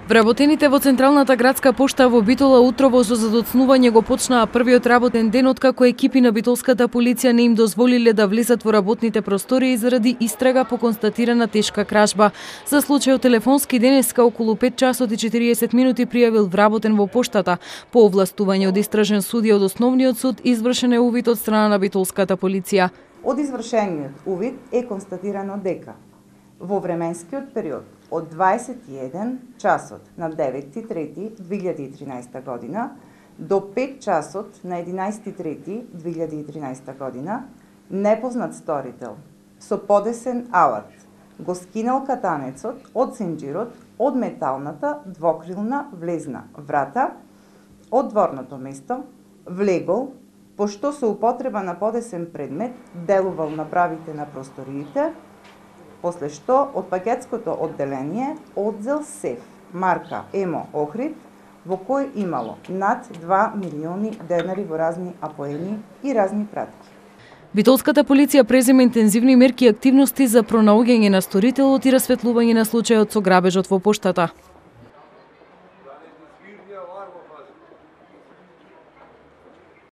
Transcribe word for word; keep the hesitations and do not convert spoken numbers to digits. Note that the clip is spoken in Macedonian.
Вработените во Централната градска пошта во Битола утрово со задоцнување го почнаа првиот работен ден откако екипи на битолската полиција не им дозволиле да влезат во работните простории заради истрага по констатирана тешка кражба. За случајот телефонски денеска околу пет часот и четириесет минути пријавил вработен во поштата. По овластување од истражен судија од Основниот суд извршен е увид од страна на битолската полиција. Од извршениот увид е констатирано дека во временскиот период од дваесет и еден часот на деветти трети две илјади и тринаесета година до пет часот на единаесети трети две илјади и тринаесета година непознат сторител со подесен алат го скинал катанецот од сенџирот од металната двокрилна влезна врата од дворното место, влегол, пошто со употреба на подесен предмет делувал на бравите на просториите, после што од пакетското одделение одзел сеф марка Емо Охрид во кој имало над два милиони денари во разни апоени и разни пратки. Битолската полиција презема интензивни мерки и активности за пронаоѓање на сторителот и расветлување на случајот со грабежот во поштата.